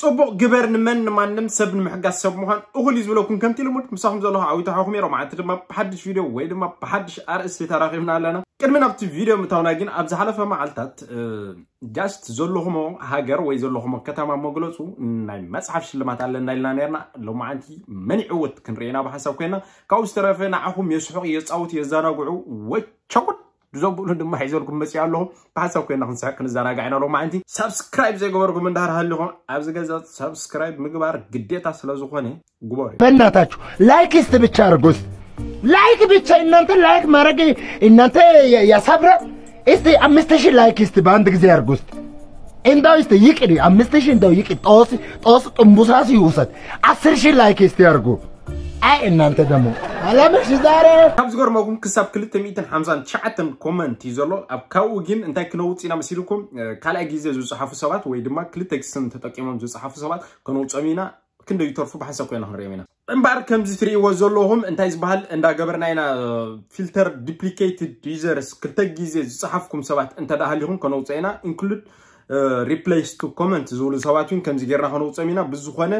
ጽቡቕ ግበር፣ ንመን ንማንም ሰብ ንምሕጋዝ ሰብ ምዃን እኹል እዩ ዝብለኩም። ከምቲ ልሙድ ምሳኹም ዘለኹ ዓዊት ሓኹም እየ። ሎማዓንቲ ድማ ብሓድሽ ቪድዮ ወይ ድማ ብሓድሽ ኣርእስቲ ተራኺብና ኣለና። ቅድሚ ናብቲ ቪድዮ ምእታውና ግን ኣብ ዝሓለፈ መዓልታት ጃስት ዘለኹሞ ሃገር ወይ ዘለኹሞ ከተማ መግለጹ ናይ መጽሓፍ ሽልማት ኣለና ኢልና ነርና። ሎማዓንቲ መን ይዕወት ክንርኢ ኢና ብሓንሳብ ኮይና። ካብኡ ዝተረፈ ንዓኹም የስሕቑ፣ የጻውቱ፣ የዘናግዑ ወቸጉድ ዘብሉ ድማ ሒዘልኩም መጽእ ኣለኹ። ብሓንሳብ ኮይና ክንስሕቕ ክንዘናጋዕ ኢና። ሎማዓንቲ ሳብስክራይብ ዘይገበርኩም እንዳሃር ሃሊኹም ኣብዚ ገዛ ሳብስክራይብ ምግባር ግዴታ ስለ ዝኾነ ግበሩ። በእናታችሁ ላይክ እስቲ ብቻ አድርጉ። እስቲ ላይክ ብቻ እናንተ ላይክ ማድረግ እናንተ ያ- ያሳብራል። እስቲ አምስት ሺህ ላይክ እስቲ በአንድ ጊዜ አድርጉ። እስቲ እንዳው እስቲ ይቅድ አምስት ሺህ እንዳው ይቅድ ጦስ ጦስ ጥንቡሳስ ይውሰድ። አስር ሺህ ላይክ እስቲ አድርጉ። አይ እናንተ ደግሞ አላምሽ ዛሬ ካብ ዝገርመኩም ክሳብ ክልተ ሚእትን ሓምሳን ትሽዓተን ኮመንት እዩ ዘሎ። ኣብ ካብኡ ግን እንታይ ክነውፅ ኢና መሲልኩም? ካልኣይ ግዜ ዝፅሓፉ ሰባት ወይ ድማ ክልተ ስም ተጠቂሞም ዝፅሓፉ ሰባት ከነውፀም ኢና። ክንደይ ይተርፉ ብሓንሳብ ኮይና ክንሪኦም ኢና። እምበኣር ከምዚ ትርእይዎ ዘለኹም እንታይ ዝበሃል እንዳገበርና ኢና። ፊልተር ዱፕሊኬትድ ዩዘርስ ክልተ ግዜ ዝፀሓፍኩም ሰባት እንተ ደኣ ሃሊኹም ከነውፀ ኢና። ኢንክሉድ ሪፕሌስ ቱ ኮመንት ዝብሉ ሰባት እውን ከምዚ ጌርና ከነውፀም ኢና። ብዝኾነ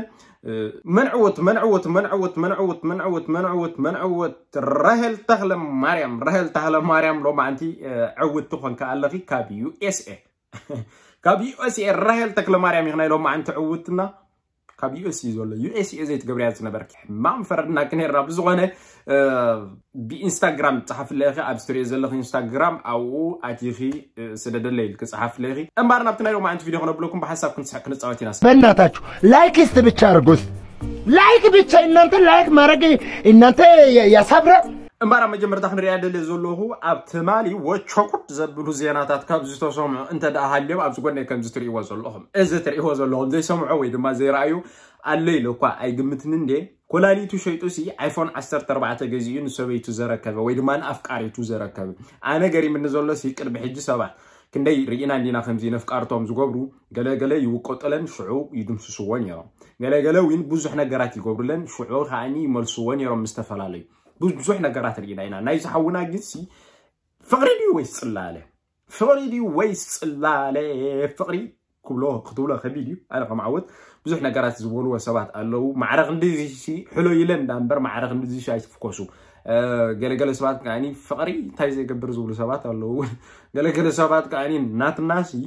መንዕወት መንዕወት መንዕወት መንዕወት መንዕወት መንዕወት መንዕወት ራሄል ተኽለ ማርያም ራሄል ተኽለ ማርያም ሎማዓንቲ ዕውቲ ኮንካ ኣለኺ ካብ ዩኤስኤ ካብ ዩኤስኤ ራሄል ተክለ ማርያም ኢኽና ሎማዓንቲ ዕውትና ካብ ዩኤስኤ ዘሎ ዩኤስኤ ዘይትገብርያ ዝነበርኪ ሕማም ፈረድናኪ ነርና። ብዝኾነ ብኢንስታግራም ጸሓፍለይ ኢኺ ኣብ ስትሪዮ ዘለኺ ኢንስታግራም ኣብኡ ኣቲኺ ስደደለይ ኢልኪ ጸሓፍለይ ኢኺ። እምባር ናብቲ ናይ ሎማዓንቲ ቪድዮ ክነብለኩም ብሓሳብ ክንስሕቅ ክንጻወት ኢና። በእናታችሁ ላይክ እስቲ ብቻ አድርጉ። እስቲ ላይክ ብቻ እናንተ ላይክ ማድረግ እናንተ ያ- ያሳብራል። እምባር ኣብ መጀመርታ ክንሪኣ ደልየ ዘለኹ ኣብ ትማሊ ወቸኩት ዘብሉ ዜናታት ካብ ዝተሰምዑ እንተ ደኣ ሃልዮም ኣብዚ ጎነይ ከምዚ ትርእይዎ ዘለኹም እዚ ትርእይዎ ዘለኹም ዘይሰምዖ ወይ ድማ ዘይረኣዩ ኣሎ ኢለ እኳ ኣይግምትን እንዴ። ኮላሊቱ ሸይጡ ሲ ኣይፎን ዓሰርተ ኣርባዕተ ገዚኡ ንሰበይቱ ዘረከበ ወይ ድማ ንኣፍቃሪቱ ዘረከበ። ኣነ ገሪምኒ ዘሎ ሲ ቅድሚ ሕጂ ሰባት ክንደይ ርኢና እንዲና ከምዚ ነፍቃርቶም ዝገብሩ ገለ ገለ ይውቀጡለን ሽዑ ይድምስስዎ ነይሮም። ገለ ገለ እውን ብዙሕ ነገራት ይገብሩለን ሽዑ ከዓኒ ይመልስዎ ነይሮም ምስ ዝተፈላለዩ ብዙሕ ነገራት ርኢና ኢና። ናይዚ ሓውና ግን ሲ ፍቕሪ ድዩ ወይስ ጽላለ? ፍቕሪ ድዩ ወይስ ጽላለ? ፍቕሪ ክብሎ ክትብሎ ከቢድ እዩ። ኣነ ከም ዓወት ብዙሕ ነገራት ዝበልዎ ሰባት ኣለዉ። ማዕረ ክንድዚ ሲ ሕሎ ኢለ እንዳ እምበር ማዕረ ክንድዚ ሲ ኣይትፍኮሱ። ገለገለ ሰባት ከዓኒ ፍቕሪ እንታይ ዘይገብር ዝብሉ ሰባት ኣለዉ። ገለገለ ሰባት ከዓኒ ናትና ሲ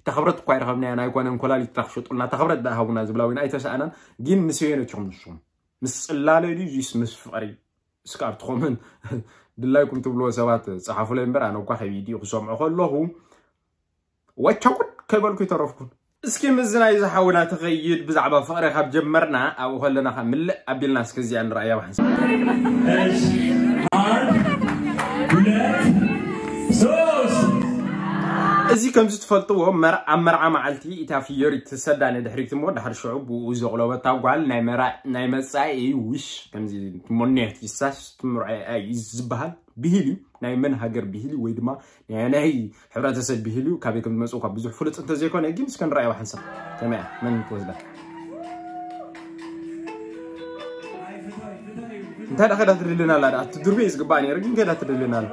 ተኽብረት እኳ ይረኸብናያ ኣይኮነን ኮላሊትና ክሸጡልና ተኽብረት ደኣ ሃቡና ዝብላ እውን ኣይተሰኣናን። ግን ምስ የነችኹም ንስኹም ምስ ጽላለ ድዩ ዚስ ምስ ፍቕሪ? እስከ ኣብቲ ኮመንት ድላይኩም ትብልዎ ሰባት ጸሓፉለይ እምበር ኣነ እኳ ከቢድ እዩ ክሰምዖ ከለኹ ወቸኩት ከይበልኩ ይተረፍኩን። እስኪ ምስዚ ናይ ዝሓውና ትኸይድ ብዛዕባ ፍቕሪ ካብ ጀመርና ኣብኡ ከለና ከ ምልእ ኣቢልና እስኪ እዚኣ ንረኣያ ብሓንሳብ። እሺ፣ አንድ፣ ሁለት፣ ሶስት። እዚ ከምዚ ትፈልጥዎ መር- ኣብ መርዓ መዓልቲ እታ ፍዮሪ ትሰዳ ንድሕሪት እሞ ድሕሪ ሽዑ ብኡ ዘቑለበታ ጓል ናይ መራ ናይ መጻኢ ውሽ ከምዚ ትመንዮ ትሳስ ትምርዖ እዩ ዝበሃል ብሂል እዩ። ናይ መን ሃገር ብሂል እዩ ወይ ድማ ናይ ናይ ሕብረተሰብ ብሂል እዩ ካበይ ከም ዝመጽእ እኳ ብዙሕ ፍሉጥ እንተዘይኮነ ግን እስከ ንረኣዮ ሓንሳብ ከመይ እያ መን ትወስዳ እንታይ ደኸዳ ትድልና ኣላ ደኣ ትድርቤ እዩ ዝግባእ ነይሩ ግን ከዳ ትድልና ኣላ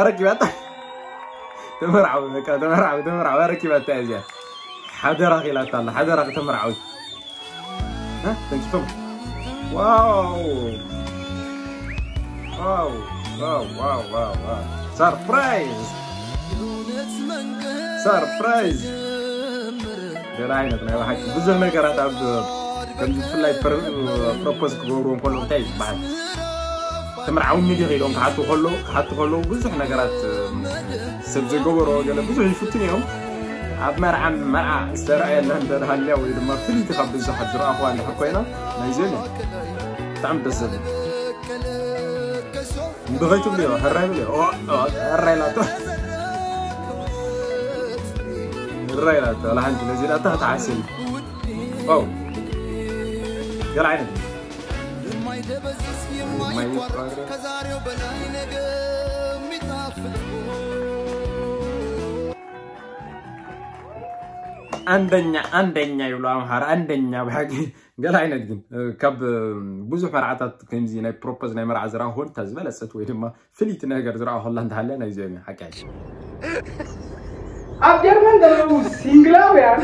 ኣረኪባታ ተመርዓዊ በቃ ተመርዓዊ ተመርዓዊ ኣረኪባታ እያ እዚኣ ሓደራ ኺላታ ኣላ ሓደራ ተመርዓዊ ተንኪፎም ዋው ዋው ዋው ዋው ዋው ዋው ሰርፕራይዝ ሰርፕራይዝ ገለ ዓይነት ናይ ብሓቂ ብዙሕ ነገራት ኣብ ከምዚ ብፍላይ ፕሮፖዝ ክገብርዎ እንከሎ እንታይ ዝበሃል ተመርዓውኒ ዲኺ ኢሎም ክሓቱ ከሎ ክሓቱ ከለዉ ብዙሕ ነገራት ሰብ ዘይገበሮ ገለ ብዙሕ ይፍትን እዮም ኣብ መርዓ መርዓ ዝተረኣየላ እንተሃልያ ወይ ድማ ፍልይቲ ካብ ብዙሓት ዝረኣኹዋ እንድሕር ኮይና ናይዚኦም እዮም ብጣዕሚ ደስ ዘብል እንዶ ከይትብልዮ ሕራይ ብልዮ ሕራይ ላቶ ሕራይ ላቶ ላሓንቲ ነዚ ላታ ክትሓስል ዋው ገለ ዓይነት አንደኛ አንደኛ ይብሉ ኣምሓራ አንደኛ ብሓቂ ገለ ዓይነት ግን ካብ ብዙሕ መርዓታት ከምዚ ናይ ፕሮፖዝ ናይ መርዓ ዝረኣኹን እታ ዝበለፀት ወይ ድማ ፍልይቲ ነገር ዝረኣኹላ እንተሃልያ ናይዚኦም እዩ ሓቂ ኣብ ጀርመን ዘለዉ ሲንግላውያን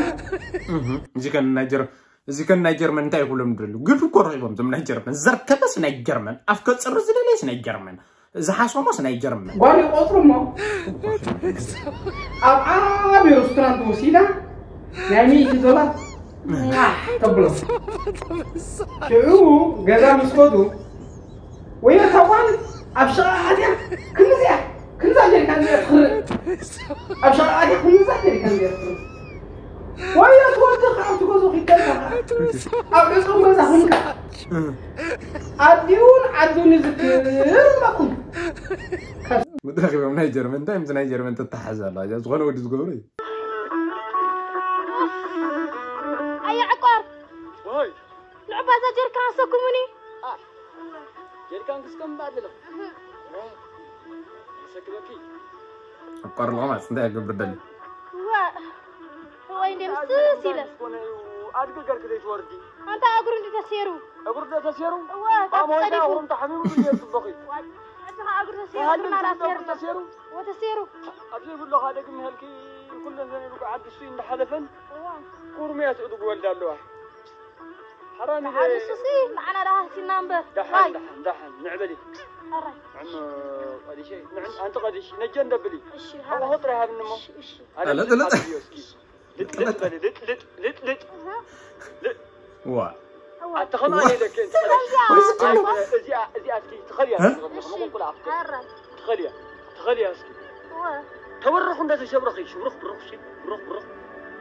እዚ ከን ናይ ጀር- እዚ ከን ናይ ጀርመን እንታይ ይኹሎም ድረሉ ግድ እኮ ረኺቦም እዞም ናይ ጀርመን ዘርከበስ ናይ ጀርመን ኣፍከ ጽሪ ዝደለስ ናይ ጀርመን ዝሓሶሞስ ናይ ጀርመን ጓል ይቆጽሩ እሞ ኣብ ዓቢ ሬስቶራንት ወሲዳ ናይ ሚእቲ ዶላር ፋሕ ተብሎ ሽዑ ገዛ ምስ ከዱ ወዮ እታ ጓል ኣብ ሸቓ ኣትያ ክንዚኣ ክንዛ ጀሪካን እዚኣ ትኽርእ ኣብ ሸቓ ኣትያ ክንዛ ጀሪካን እዚኣ ትኽርእ ወዮ ትወዲ ካብ ትገዙ ኪተልካ ኣብ ዕፁም ገዛ ክንካ ኣዲኡን ዓዱን ይዝክር እምበኩም ምድረኺቦም ናይ ጀርመን እንታይ ምስ ናይ ጀርመን ተተሓዝ ኣላ እዚኣ ዝኾነ ወዲ ዝገብሮ እዩ ኣየ ዕቋር ወይ ንዑ ባዛ ጀርካን ኣሰኩሙኒ ጀሪካን ክስከም ባድለ ሰክበኪ ዕቋር ለማስ እንታይ ክገብር ደሊ ዋ ወይ እንደ ምስስ ኢለ ኣድጊ ገርክ ዘይትወርዲ ኣንታ እግሩ እንዲ ተሴሩ እግሩ ዶ ተሴሩ ዋ ካብ ኣሞይዳ ጸዲፉ ወም ተሓሚሙ ብየ ጽቡቕ እዩ እዚ ከዓ እግሩ ተሴሩ እግርና ዳሴሩ ተሴሩ ወተሴሩ ኣብዚ ብሎኻ ደግም ይሃልኪ ኩለን ዘን ኢሉ ዓዲ እሱ እንዳሓለፈን ኩርምያ ትእድጉ ወልዳ ኣለዋ ሓራም ኢለ ንሱሲ ንዓና ዳሃሲና እምበር ዳሓን ዳሓን ዳሓን ንዕበሊ ኣራይ ንዕም ቀዲሸ ንዕም ኣንቲ ቀዲሽ ነጀ እንደብሊ እሺ ኣቦ ጥራይ ሃብኒ እሞ እሺ ኣለ ለጥ ለጥ ልጥ ልጥ በሊ ልጥ ልጥ ልጥ ልጥ ዋ ኣቲ ከማን ኢለክ እዚኣ እዚኣ እስኪ ትኸልያ ትኸልያ ትኸልያ እስኪ ተበረኹ እንደ ተሸብረኺ ሽብሩኽ ብሩኽ ሲ ብሩኽ ብሩኽ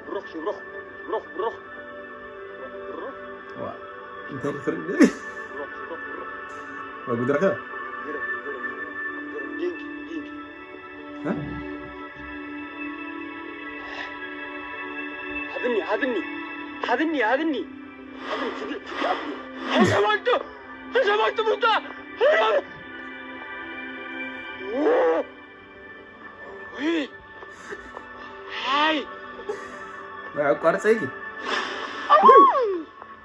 ብሩኽ ሽብሩኽ ብሩኽ ብሩኽ ብሩኽ ዋ እንታይ ክርኢ ብሩኽ ሽብሩኽ ብሩኽ ወጉድረኸ ግርም ግርም ግርም ዲንኪ ዲንኪ ሃብኒ ሃብኒ ሃብኒ ሃብኒ ሃብኒ ፍግእ ፍግእ ኣብኒ ተሸማልቱ ተሸማልቱ ሙታ ሃይ ኣቋርፀይኪ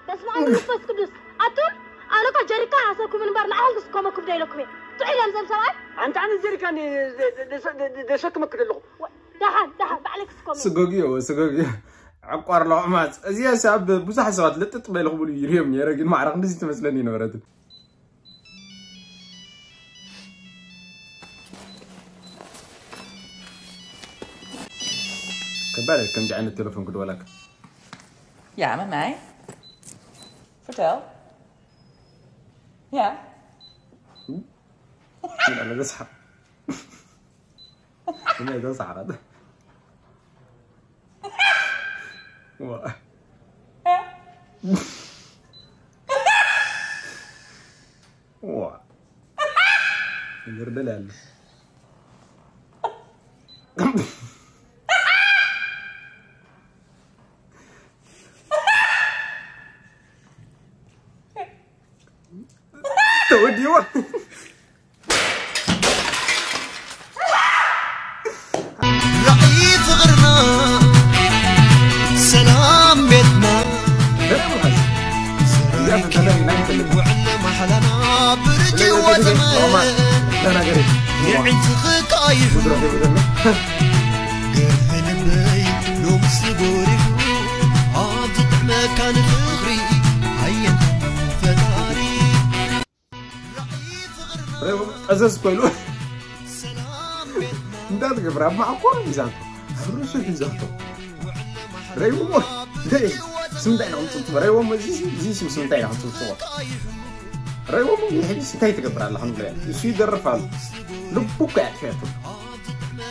በስመ ኣብ መንፈስ ቅዱስ ኣቱም ኣነኳ ጀሪካን ኣሰኩም እምበር ንዓኹም ክስከመኩም ዶ ኢለኩም እየ ጥዑይ ኢሎም ዘም ሰብኣይ ኣንተ ኣነ ጀሪካን ደሰክመክ ደለኹ ደሓን ደሓን ባዕለይ ክስከሙ ስጎግዮ ስጎግዮ ዕቋር ለማስ እዚኣ ኣብ ብዙሓት ሰባት ልጥጥ በልኽብሉ ይርዮም ነረ ግን ማዕረ ክንዲዚ ትመስለኒ ነበረትን ከባድ ከምዚ ዓይነት ቴሌፎን ክድወለካ Ja, met mij. Vertel. Ja. እዛ ሰሓቕ እዛ ሰሓቕ ዋ ዋ ይርደል ያለ ተወዲዋ ራእይ ፍቕርና ሰላም ቤትና ዘራይኪ ውዕለ ማሕላና ብርጂ ወዘመ የዕንቲ ክቃይሑ ገርህ ልበይ ሎምስ ጎሪሑ ኣብ ዝጥዕመካ ንፍቕሪ ኣየንታ ፈጣሪ ጠዘዝ ኮይሉ እንዳትገብር ኣብ ማዕኮር ሒዛቶ ኣብ ርእሱ ሒዛቶ ረይዎ ስምንታይ ኢና ክንፅብፅቦ ረይዎም እዚ ስም ስምንታይ ኢና ክንፅብፅቦ ረይዎም ሕጂ እንታይ ትገብር ኣላ ክንብሎ እሱ ይደርፍ ኣሎ ልቡ እኮ ያጥፍያቱ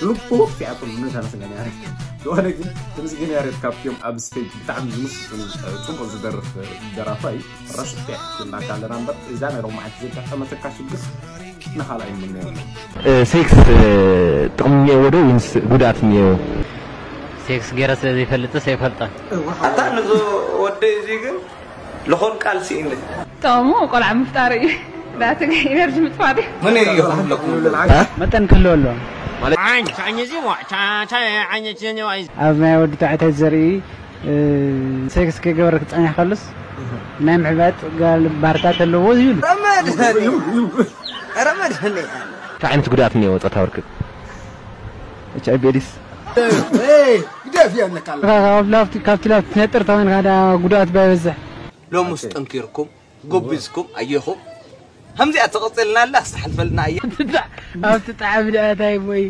ልቡ ወጥፍያቱ ምንታ መስገን ያሬድ ዝኾነ ግን ተመስገን ያሬድ ካብትዮም ኣብ ስቴጅ ብጣዕሚ ዝምስጡን ፅቡቅ ዝደርፍ ደራፋይ ረስፔክት እናካለና እምበር እዛ ናይ ሎማዓንቲ ዘጋጠመተካ ሽግር ንኻልኣይ ምነየሉ ሴክስ ጥቕሚ እኒአዎ ዶ ወይንስ ጉድኣት እኒአዎ? ሴክስ ገይረ ስለ ዘይፈልጥስ ኣይፈልጠን። ኣታ ንዞ ወደይ እዚ ግን ልኾን ቃል ስኢነ ጠቕሙ ቆልዓ ምፍጣር እዩ ናትግ ኢነርጂ ምጥፋእ ድዩ ምን እዩ ዝብለኩም መጠን ክህልዎ ኣለዎ ማለት ዓይን ቻኝ እዚ ዋ ቻ ቻ ዓይን ቻኝ ዋ ኣብ ናይ ወዲ ተባዕታይ ዘርኢ ሴክስ ክገብር ክፀኒሕ ከሉስ ናይ ምሕባጥ ጋል ባህርታት ኣለዎ ይብል ረመድ ረመድ እንታይ ዓይነት ጉድኣት እኒኦ ፆታዊ ርክብ ኤች ኣይ ቪ ኤድስ ግደፍ እያ ኣለካ። ካብቲ ላፍቲ ትነጥር ተኾይንካ ደኣ ጉድኣት ባይበዝሕ። ሎምስ ጠንኪርኩም ጎቢዝኩም ኣየኹም። ከምዚኣ ተቐጽልና ኣላ ክስተሓልፈልና ኣየ። ኣብቲ ጣዕሚ ደኣ እንታይ ሞይ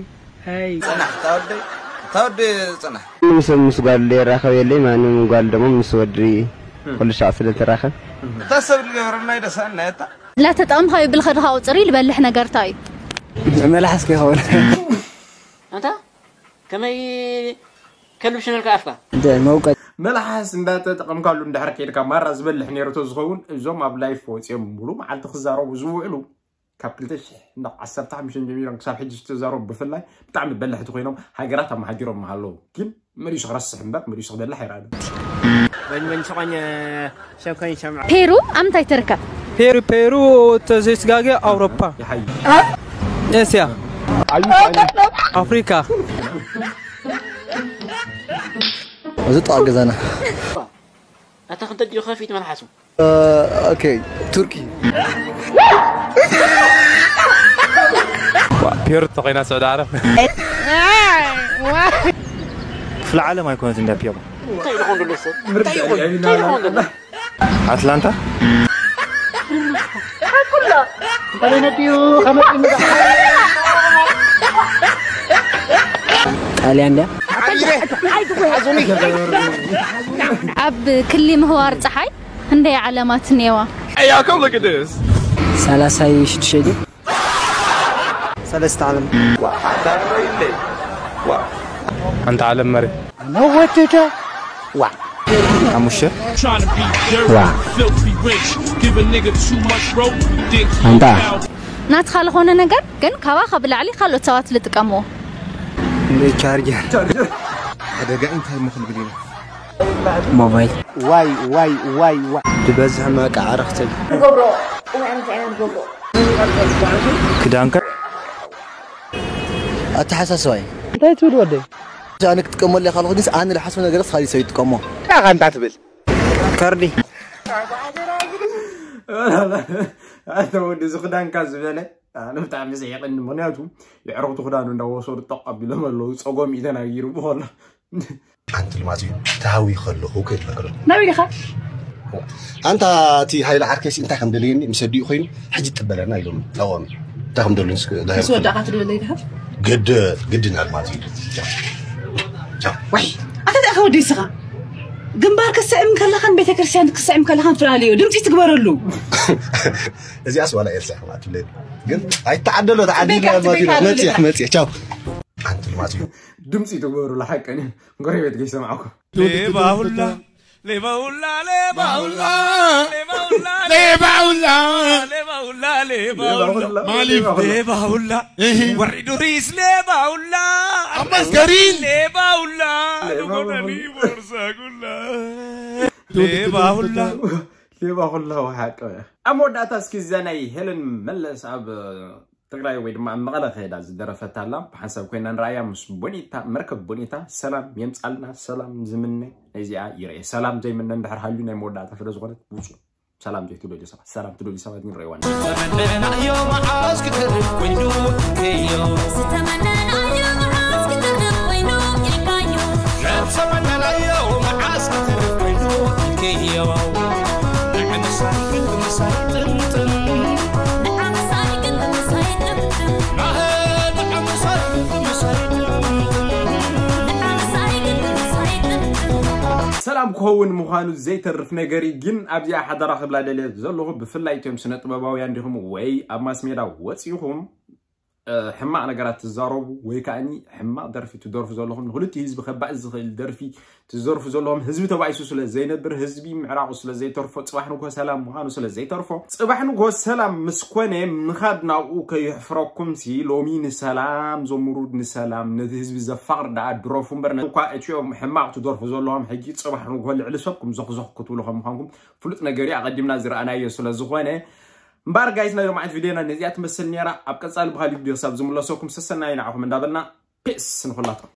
ኣይ ጽናሕ ታወደይ ታወደ ጽናሕ። ምስ ምስ ጓል ይራኸብ የለይ ማንም ጓል ደግሞ ምስ ወዲ ኩሉ ሻዕ ስለ ትራኸብ። እታ ሰብ ዝገበረና ይደሳና እታ لا تطعم خاي بالخد خاو تري لبلح نقرتاي መላሓስ ከይኸውን ኣንታ ከመይ ከልብ ሽነልካ ኣፍካ እንታይ መውቀት መልሓስ እንዳተጠቐምካሉ እንድሕር ከይድካ ማራ ዝበልሕ ነይሩ ተዝኸውን እዞም ኣብ ላይፍ ወፂኦም ሙሉ መዓልቲ ክዛረቡ ዝውዕሉ ካብ ክልተ ሽሕ እንዳ ዓሰርተ ሓሙሽተ ጀሚሮም ክሳብ ሕጂ ዝተዛረቡ ብፍላይ ብጣዕሚ በላሕቲ ኮይኖም ሃገራት ኣመሃጊሮም ኣለዉ ግን መሊሱ ክረስሕ እምበር መሊሱ ክበልሕ ኣይረኣን ወይን ወይን ሸቆኝ ሸቆኝ ሸምዓ ፔሩ ኣብ ምንታይ ትርከብ? ፔሩ ፔሩ ተዘይስጋገ ኣውሮፓ ይሓይ ኤስያ ኣፍሪካ እዚ ጥቓ ገዛና ኣታ ክንተ ድዩ ከፊት መልሓሱ ኦኬ ቱርኪ ፔሩ ተኾይና ስዑዲ ዓረብ ክፍለ ዓለም ኣይኮነት እንዳ ፒሮ እንታይ ይኾን ዘሎ ሰብ እንታይ ይኾን እንታይ ይኾን ዘሎ ኣትላንታ ጣልያን ድያ ኣብ ክሊ ምህዋር ፀሓይ ክንደይ ዓለማት እኒአዋ? ሰላሳይ ሽዱሽተ ድዩ ሰለስተ ዓለም ሓንቲ ዓለም መሬት መወደዳ ዋ ሓሙሽተ ኣንታ ናትኻ ዝኾነ ነገር ግን ካባኻ ብላዕሊ ካልኦት ሰባት ዝጥቀምዎ ቻርጀር ሓደጋ እንታይ ምኽልብል ኢና ሞባይል ዋይ ዋይ ዋይ ዋይ ዝበዝሕ መቃ ዓረኽተይ ክዳንካ ኣተሓሳስባይ እንታይ ትብል ወደይ ኣነ ክጥቀመሉ ካልኹ ግን ኣነ ዝሓስቦ ነገር ስኻ ሰብ ይጥቀሞ ዳኻ እንታይ ትብል ከርዲ ኣተ ወዲ እዚ ክዳንካ ዝበለ ኣነ ብጣዕሚ ዘየቀኒ ምክንያቱ የዕረኽቱ ክዳኑ እንዳወሰዱ ጠቕ ኣቢሎም ኣለዉ ፀጎም እዩ ተናጊሩ ብኸሎ ሓንቲ ልማት እዩ ተሃዊ ከለኹ ከይትፈክሮ ናበይ ዲኻ ኣንታ እቲ ሃይለ ዓርከይሲ እንታይ ከም ደልየኒ ምስ ኣዲኡ ኮይኑ ሕጂ ትበለና ኢሎም ታወሚ እንታይ ከም ደልዩ ምስ ወዳእካ ትደለይ ዲኻ ግድ ግድን ኣልማት እዩ ወይ ኣታ ደኣ ከወዲ ስኻ ግንባር ክትስዕም ከለኻን ቤተክርስትያን ክትስዕም ከለኻን ፍላለዮ ድምፂ ትግበረሉ እዚኣስ ዋላ ኤልሳ ከማት ትብለኒ ግን ኣይተዓደሎ ተዓዲልና መፂሕ መፂሕ ቻው ሓንቲ ልማት እዩ ድምፂ ትግበሩላ ሓቀን እዩ ጎረቤት ከይሰማዕኩ ሌባ ሁላ ሌባ ሁላ ሌባ ሁላ ሌባ ሁላ ሌባ ሁላ ሌባ ሁላ ማሊፍ ሌባ ሁላ ወሪዱ ሪስ ሌባ ሁላ ኣመስገሪን ሌባ ሁላ ዝኾነኒ ቦርሳ ጉላ ሌባ ሁላ ሌባ ኩላ ወሓቀ ኣብ መወዳእታ እስኪ እዛ ናይ ሄለን መለስ ኣብ ትግራይ ወይ ድማ ኣብ መቐለ ከይዳ ዝደረፈታ ኣላ ብሓንሳብ ኮይና ንረኣያ ምስ ቦኒታ መርከብ ቦኒታ ሰላም የምፃልና ሰላም ዝምነ ነዚኣ ይርአ ሰላም ዘይምነ እንድሕር ሃልዩ ናይ መወዳእታ ስለ ዝኾነት ውፁ ሰላም ዘይትደልዩ ሰባት ሰላም ትደልዩ ሰባት ግን ረእዋን ተመነናዮ መዓስ ክተርፍ ኮይኑ ኢልካዮ ዝተመነናዮ መዓስ ክተርፍ ኮይኑ ኢልካዮ ነብሰ መነናዮ መዓስ ክተርፍ ኮይኑ ኢልካዮ ንዕምሳይ ግን ምሳይ ጥምጥም ንዓምሳይ ግን ምሳይ ጥምጥም ናሀ ንዓምሳይ ግን ምሳይ ጥምጥም ንዓምሳይ ግን ምሳይ ጥምጥም ሰላም ክኸውን ምዃኑ ዘይተርፍ ነገር እዩ ግን ኣብዚኣ ሓደራ ክብላ ደልየ ዘለኹ ብፍላይ እቶም ስነ ጥበባውያን ዲኹም ወይ ኣብ ማስሜዳ ወፂኹም ሕማቕ ነገራት ትዛረቡ ወይ ከዓኒ ሕማቕ ደርፊ ትደርፉ ዘለኹም ንክልቲኡ ህዝቢ ከባእ ዝኽእል ደርፊ ትዘርፉ ዘለኹም ህዝቢ ተባኢሱ ስለ ዘይነብር ህዝቢ ምዕራቑ ስለ ዘይተርፎ ፅባሕ ንግሆ ሰላም ምዃኑ ስለ ዘይተርፎ ፅባሕ ንግሆ ሰላም ምስ ኮነ ምኻድ ናብኡ ከየሕፍረኩም ሲ ሎሚ ንሰላም ዘምሩ ንሰላም ነቲ ህዝቢ ዘፋቕር ደኣ ድረፉ እምበር እኳ እቲኦም ሕማቕ ትደርፉ ዘለኹም ሕጂ ፅባሕ ንግሆ ልዕሊ ሰብኩም ዘኽዘኽ ክትብሉ ከም ምዃንኩም ፍሉጥ ነገር እዩ ኣቐዲምና ዝረኣናዮ ስለ ዝኾነ እምበር ጋይስ ናይ ሎማዓት ቪድዮና ነዚኣ ትመስል ነይራ ኣብ ቀፃሊ ብካሊእ ቪድዮ ክሳብ ዝምለሰኩም ሰሰናዩ ንዓኹም እንዳበልና ፒስ ንኹላትኩም